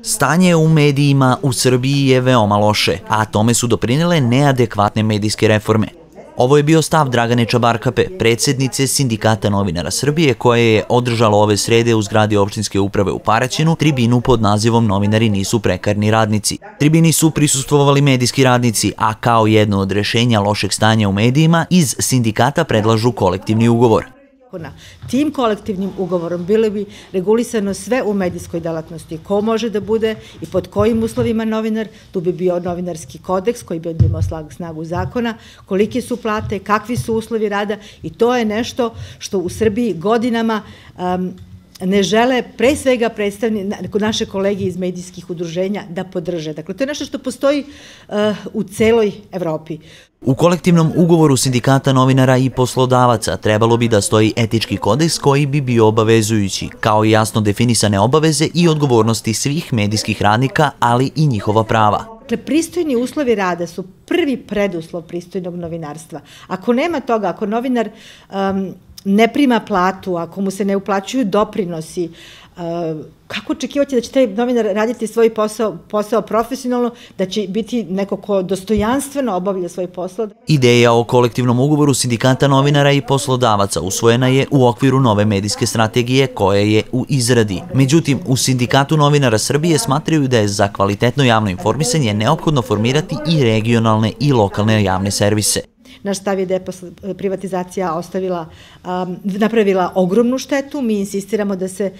Stanje u medijima u Srbiji je veoma loše, a tome su doprinele neadekvatne medijske reforme. Ovo je bio stav Dragane Čabarkape, predsjednice Sindikata novinara Srbije, koje je održalo ove srede u zgradi opštinske uprave u Paraćinu tribinu pod nazivom Novinari nisu prekarni radnici. Tribini su prisustvovali medijski radnici, a kao jedno od rješenja lošeg stanja u medijima iz sindikata predlažu kolektivni ugovor. Tim kolektivnim ugovorom bilo bi regulisano sve u medijskoj delatnosti, ko može da bude i pod kojim uslovima novinar, tu bi bio novinarski kodeks koji bi imao snagu zakona, kolike su plate, kakvi su uslovi rada i to je nešto što u Srbiji godinama ne žele, pre svega naše kolege iz medijskih udruženja, da podrže. Dakle, to je nešto što postoji u celoj Evropi. U kolektivnom ugovoru sindikata novinara i poslodavaca trebalo bi da stoji etički kodeks koji bi bio obavezujući, kao i jasno definisane obaveze i odgovornosti svih medijskih radnika, ali i njihova prava. Dakle, pristojni uslovi rada su prvi preduslov pristojnog novinarstva. Ako nema toga, ako novinar ne prima platu, ako mu se ne uplaćuju doprinosi, kako očekivati da će taj novinar raditi svoj posao profesionalno, da će biti neko ko dostojanstveno obavlja svoj posao? Ideja o kolektivnom ugovoru sindikata novinara i poslodavaca usvojena je u okviru nove medijske strategije koja je u izradi. Međutim, u Sindikatu novinara Srbije smatraju da je za kvalitetno javno informisanje neophodno formirati i regionalne i lokalne javne servise. Naš stav je da je privatizacija napravila ogromnu štetu. Mi insistiramo da se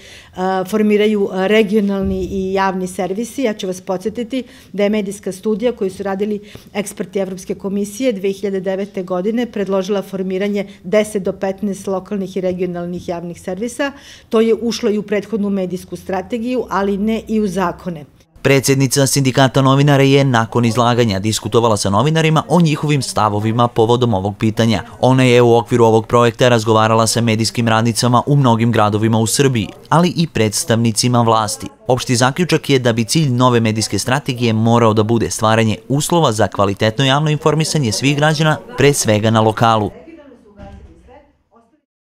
formiraju regionalni i javni servisi. Ja ću vas podsjetiti da je medijska studija koju su radili eksperti Evropske komisije 2009. godine predložila formiranje 10 do 15 lokalnih i regionalnih javnih servisa. To je ušlo i u prethodnu medijsku strategiju, ali ne i u zakone. Predsjednica Sindikata novinara je nakon izlaganja diskutovala sa novinarima o njihovim stavovima povodom ovog pitanja. Ona je u okviru ovog projekta razgovarala sa medijskim radnicama u mnogim gradovima u Srbiji, ali i predstavnicima vlasti. Opšti zaključak je da bi cilj nove medijske strategije morao da bude stvaranje uslova za kvalitetno javno informisanje svih građana, pre svega na lokalu.